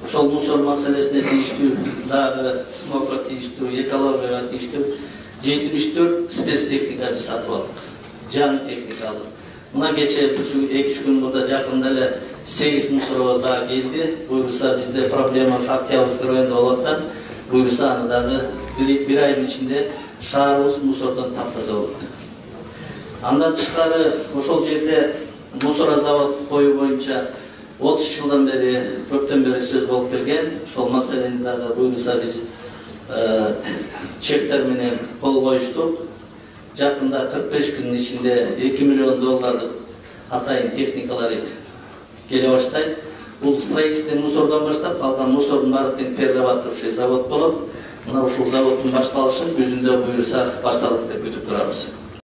ошол мусор маселесине тийиштүү, дагы смогко тийиштүү, экологияга тийиштүү 74 спецтехника биз сатып алдык. Жаңы техника алдык. Мына кече 2-3 күн мурда жакында эле 8 мусоробуз дагы келди. Буюрса бизде проблема Октябрьский районунда болуп аткан. Буюрса аны дагы bir айдын ичинде шаарыбыз мусордон таптаза болот. Андан тышкары ошол жерде мусорозавод коюу боюнча 30 жылдан бери, көптөн бери сөз болуп келген. Ошол маселени дагы буюрса биз чектер менен кол коюштук. Жакында 45 күнүн ичинде $2 миллион атайын техникалары келе баштайт. Бул строительный мусордон баштап калган мусордун баарын перерабатывающий завод болот. Мына ушул заводдун башталышын күзүндө буюрса башталат деп күтүп турабыз.